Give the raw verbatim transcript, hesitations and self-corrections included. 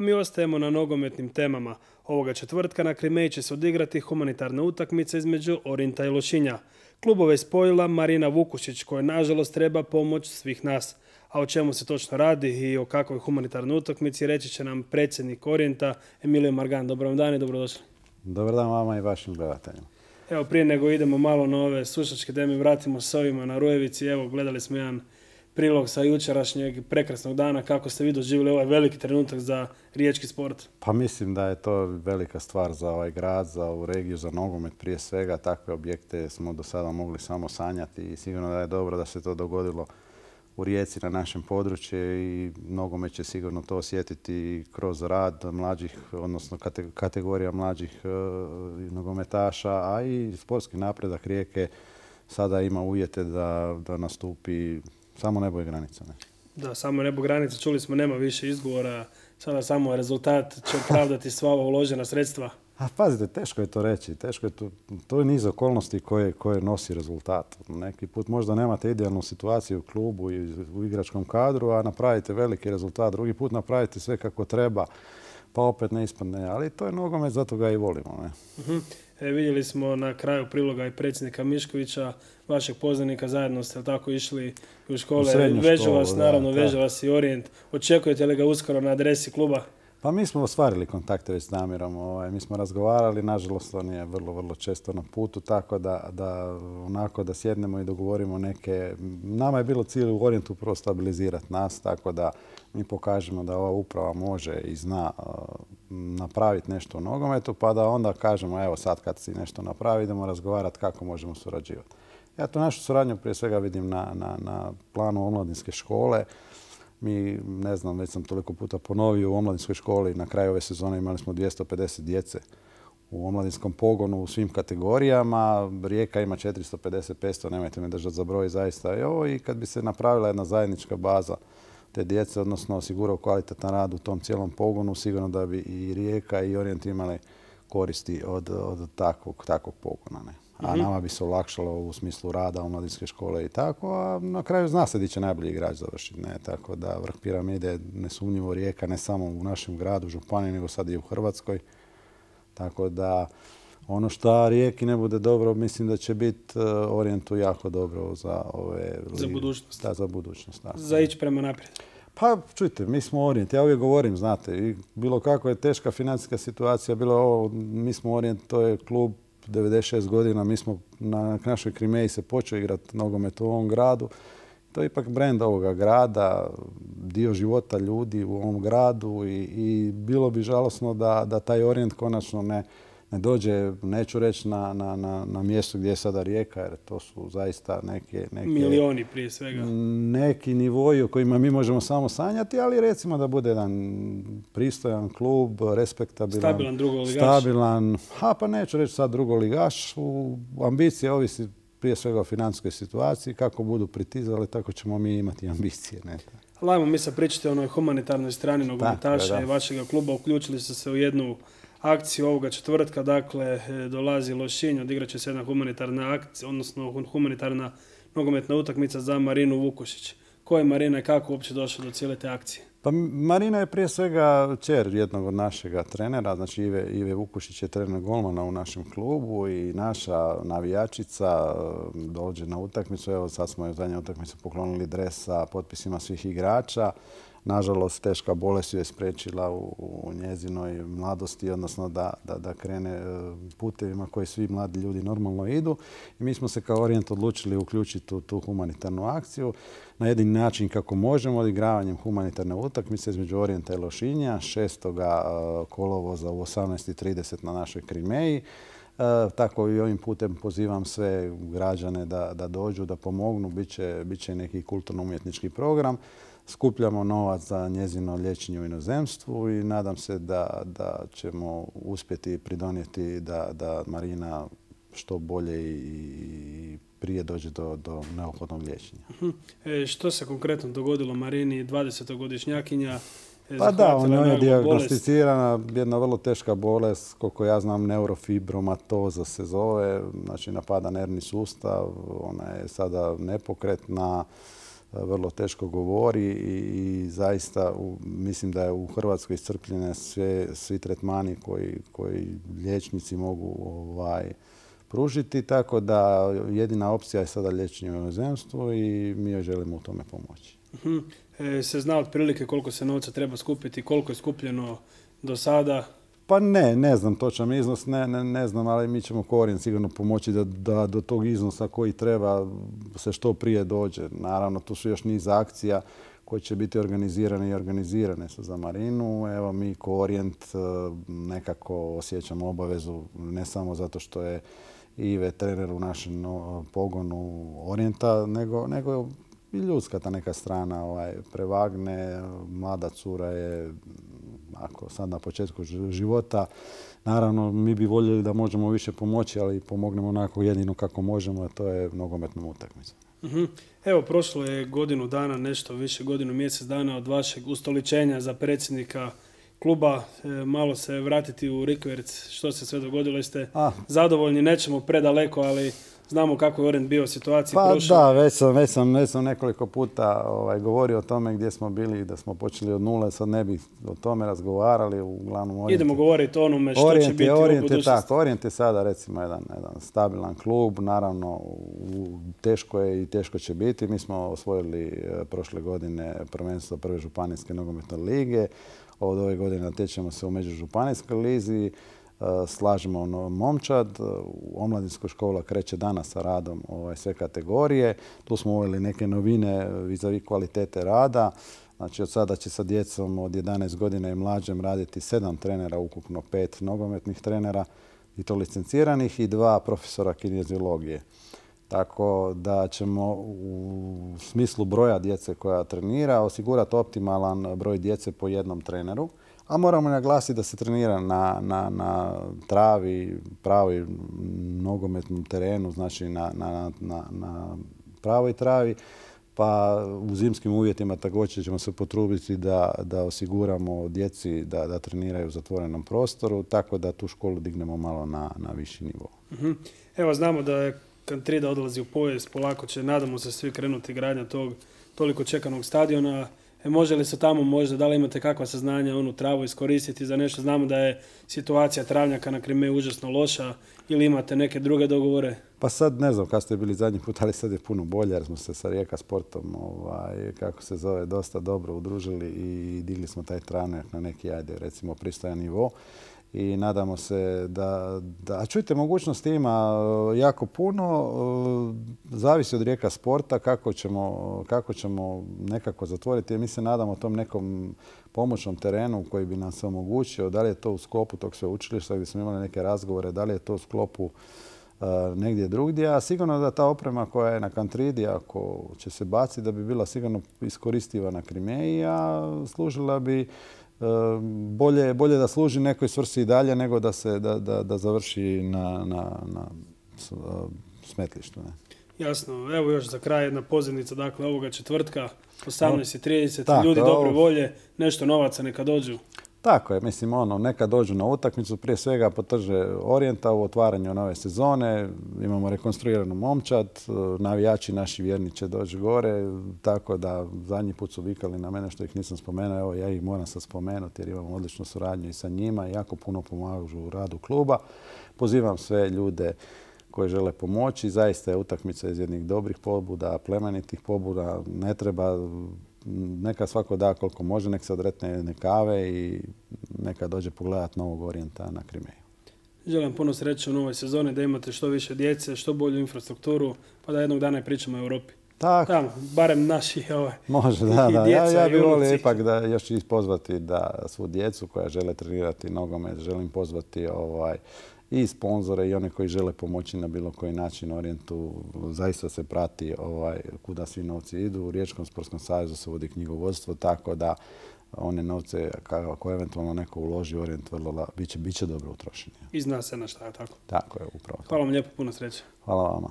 a mi ostajemo na nogometnim temama. Ovoga četvrtka na Krimeji će se odigrati humanitarna utakmica između Orijenta i Lošinja. Klubove je spojila Marina Vukušić, koja nažalost treba pomoć svih nas. A o čemu se točno radi i o kakvoj humanitarnoj utakmici reći će nam predsjednik Orijenta Emilio Margan. Dobar vam dan i dobrodošli. Dobar dan vama i vašim gledateljima. Evo, prije nego idemo malo na ove sušačke teme, vratimo se ovima na Rujevici. Evo, gledali smo jedan prilog sa jučerašnjeg prekrasnog dana. Kako ste vi doživjeli ovaj veliki trenutak za riječki sport? Pa mislim da je to velika stvar za ovaj grad, za ovu regiju, za nogomet prije svega. Takve objekte smo do sada mogli samo sanjati i sigurno da je dobro da se to dogodilo u Rijeci na našem području i nogomet će sigurno to osjetiti kroz rad mlađih, odnosno kategorija mlađih e, nogometaša, a i sportski napredak Rijeke sada ima uvjete da, da nastupi samo nebo i granica. Ne? Da, samo nebo granica. Čuli smo, nema više izgovora. Sada samo rezultat će opravdati sva ova uložena sredstva. A pazite, teško je to reći. Teško je to, to je niz okolnosti koje, koje nosi rezultat. Neki put možda nemate idealnu situaciju u klubu i u igračkom kadru, a napravite veliki rezultat. Drugi put napravite sve kako treba, pa opet ne ispadne. Ali to je nogomet, zato ga i volimo. Ne? Uh-huh. E, vidjeli smo na kraju priloga i predsjednika Miškovića, vašeg poznanika, zajedno ste tako išli u škole. Vežu vas, naravno, veže vas i Orijent. Očekujete li ga uskoro na adresi kluba? Pa mi smo ostvarili kontakte već s Damirom. Ovaj, mi smo razgovarali, nažalost on je vrlo, vrlo često na putu, tako da, da onako da sjednemo i dogovorimo neke... Nama je bilo cilj u Orijentu prvo stabilizirati nas, tako da mi pokažemo da ova uprava može i zna uh, napraviti nešto u nogometu, pa da onda kažemo, evo sad kad si nešto napravi, idemo razgovarati kako možemo surađivati. Ja tu našu suradnju prije svega vidim na, na, na planu omladinske škole. Mi, ne znam, već sam toliko puta ponovio, u omladinskoj školi na kraju ove sezone imali smo dvjesto pedeset djece u omladinskom pogonu u svim kategorijama. Rijeka ima četiristo pedeset petsto, nemojte me držati za broj, zaista je ovo. I kad bi se napravila jedna zajednička baza te djece, odnosno osigurao kvalitetan rad u tom cijelom pogonu, sigurno da bi i Rijeka i Orijent imali koristi od, od takvog, takvog pogona. Ne? A nama bi se olakšalo u smislu rada omladinske škole i tako, a na kraju zna se di će najbolji igrač završiti. Ne? Tako da vrh piramide nesumnjivo Rijeka, ne samo u našem gradu, županiji, nego sad i u Hrvatskoj. Tako da ono što Rijeki ne bude dobro, mislim da će biti Orijentu jako dobro za ove... Za budućnost. Da, za budućnost. Da. Za ići prema naprijed. Pa čujte, mi smo Orijent. Ja uvijek govorim, znate, i bilo kako je teška financijska situacija, bilo ovo, mi smo Orijent, to je klub devedeset šest godina, mi smo na našoj Krimeji se počeo igrati nogomet u ovom gradu. To je ipak brend ovoga grada, dio života ljudi u ovom gradu i, i bilo bi žalosno da, da taj Orijent konačno ne, ne dođe, neću reći na, na, na, na mjesto gdje je sada Rijeka, jer to su zaista neke... neke milioni prije svega. Neki nivoji o kojima mi možemo samo sanjati, ali recimo da bude jedan pristojan klub, respektabilan, stabilan drugoligaš. Stabilan, a pa neću reći sad drugoligaš, u ambicije ovisi prije svega o financijskoj situaciji, kako budu pritizali, tako ćemo mi imati ambicije. Ne? Lajmo mi sad pričati o onoj humanitarnoj strani nogometaša i vašega kluba. Uključili ste se u jednu akciju ovoga četvrtka, dakle dolazi Lošinj, odigrat će se jedna humanitarna akcija, odnosno humanitarna nogometna utakmica za Marinu Vukušić. Ko je Marina i kako uopće došla do cijele te akcije? Pa Marina je prije svega kćer jednog od našega trenera, znači Ive, Ive Vukušić je trener golmana u našem klubu i naša navijačica dođe na utakmicu. Evo sad smo joj zadnju utakmicu poklonili dres sa potpisima svih igrača. Nažalost, teška bolest ju je spriječila u, u njezinoj mladosti, odnosno da, da, da krene putevima koji svi mladi ljudi normalno idu. I mi smo se kao Orijent odlučili uključiti u tu humanitarnu akciju na jedin način kako možemo, odigravanjem humanitarne utakmice između Orijenta i Lošinja, šestoga kolovoza u osamnaest i trideset na našoj Krimeji. E, tako i ovim putem pozivam sve građane da, da dođu, da pomognu. Biće, biće neki kulturno-umjetnički program. Skupljamo novac za njezino liječenje u inozemstvu i nadam se da, da ćemo uspjeti pridonijeti da, da Marina što bolje i prije dođe do, do neophodnog liječenja. Uh-huh. E, što se konkretno dogodilo Marini, dvadesetogodišnjakinja? Pa da, on je dijagnosticirana jedna vrlo teška bolest, koliko ja znam neurofibromatoza se zove, znači napada nervni sustav, ona je sada nepokretna. vrlo teško govori i, i zaista u, mislim da je u Hrvatskoj iscrpljene sve, svi tretmani koji, koji liječnici mogu ovaj, pružiti, tako da jedina opcija je sada liječenje u inozemstvu i mi joj želimo u tome pomoći. Uh-huh. E, se zna otprilike koliko se novca treba skupiti, koliko je skupljeno do sada? Pa ne, ne znam točan iznos, ne, ne, ne znam, ali mi ćemo kao Orient sigurno pomoći da, da do tog iznosa koji treba se što prije dođe. Naravno, tu su još niz akcija koje će biti organizirane i organizirane su za Marinu. Evo, mi kao Orient nekako osjećamo obavezu, ne samo zato što je Ive trener u našem pogonu Orijenta, nego, nego i ljudska ta neka strana ovaj, prevagne. Mlada cura je, ako sad na početku života, naravno mi bi voljeli da možemo više pomoći, ali pomognemo onako jedino kako možemo, a to je nogometnom utakmicom. Uh-huh. Evo, prošlo je godinu dana, nešto više, godinu, mjesec dana od vašeg ustoličenja za predsjednika kluba. E, malo se vratiti u rikverc, što se sve dogodilo, jeste A. zadovoljni, nećemo predaleko, ali znamo kako je Orient bio u situaciji. Pa prošle. da, već sam, već, sam, već sam nekoliko puta ovaj, govorio o tome gdje smo bili, da smo počeli od nule, sad ne bi o tome razgovarali. Uglavnom, Orient, idemo govoriti o onome što Orient će biti je, u Orient budućnosti. Je tako, Orient je sada recimo jedan, jedan stabilan klub, naravno u, teško je i teško će biti. Mi smo osvojili e, prošle godine prvenstvo prve županijske nogometne lige, od ove godine natječemo se u međužupanijskoj lizi. Slažemo momčad, omladinska škola kreće danas sa radom ovaj, sve kategorije. Tu smo uveli neke novine vis-a-vis kvalitete rada. Znači od sada će sa djecom od jedanaest godina i mlađem raditi sedam trenera, ukupno pet nogometnih trenera i to licenciranih i dva profesora kineziologije. Tako da ćemo u smislu broja djece koja trenira osigurati optimalan broj djece po jednom treneru. A moramo naglasiti da se trenira na, na, na travi, pravi nogometnom terenu, znači na, na, na, na pravoj travi. Pa u zimskim uvjetima također ćemo se potruditi da, da osiguramo djeci da, da treniraju u zatvorenom prostoru, tako da tu školu dignemo malo na, na viši nivo. Uh-huh. Evo, znamo da je Kantrida odlazi u povijest, polako će, nadamo se, svi krenuti gradnja tog toliko čekanog stadiona. E, može li se tamo možda, da li imate kakva saznanja onu travu iskoristiti za nešto? Znamo da je situacija travnjaka na Krimeji užasno loša, ili imate neke druge dogovore? Pa sad ne znam kad ste bili zadnji put, ali sad je puno bolje jer smo se sa Rijeka Sportom, ovaj, kako se zove, dosta dobro udružili i digli smo taj travnjak na neki, ajde, recimo pristojan nivo. I nadamo se da, da... A čujte, mogućnosti ima jako puno, zavisi od Rijeka Sporta kako ćemo, kako ćemo nekako zatvoriti. Mi se nadamo tom nekom pomoćnom terenu koji bi nam se omogućio, da li je to u sklopu tog sveučilišta gdje smo imali neke razgovore, da li je to u sklopu uh, negdje drugdje, a sigurno da ta oprema koja je na Kantridi, ako će se baciti, da bi bila sigurno iskoristiva na Krimeji, a služila bi Bolje, bolje da služi nekoj svrsi i dalje nego da se da, da, da završi na, na, na smetlištu. Ne? Jasno. Evo još za kraj jedna pozivnica, dakle, ovoga četvrtka, osamnaest i trideset, Tako, ljudi ovo... dobre volje, nešto novaca neka dođu. Tako je, mislim, ono, neka dođu na utakmicu, prije svega potrže Orijenta u otvaranju nove sezone, imamo rekonstruiranu momčad, navijači naši vjerni će doći gore, tako da zadnji put su vikali na mene što ih nisam spomenuo, evo ja ih moram sad spomenuti jer imamo odličnu suradnju i sa njima i jako puno pomažu u radu kluba. Pozivam sve ljude koji žele pomoći, zaista je utakmica iz jednih dobrih pobuda, plemenitih pobuda, ne treba... Neka svako da koliko može, nek se odretne jedne kave i neka dođe pogledati novog Orijenta na Krimeju. Želim puno sreće u novoj sezoni, da imate što više djece, što bolju infrastrukturu, pa da jednog dana i pričamo o Europi. Tako. Tamo, barem naši ovaj, može, da, i da. djeca Ja, ja i bih volio unuci. ipak da još pozvati da svu djecu koja žele trenirati nogomet, želim pozvati ovaj, i sponzore i one koji žele pomoći na bilo koji način Orijentu. Zaista se prati ovaj, kuda svi novci idu. U Riječkom sportskom savezu se vodi knjigovodstvo, tako da one novce koje eventualno neko uloži u Orijent vrlo biće, biće dobro utrošeni. I zna se na šta je tako. Tako je, upravo. Hvala vam lijepo, puno sreće. Hvala vama.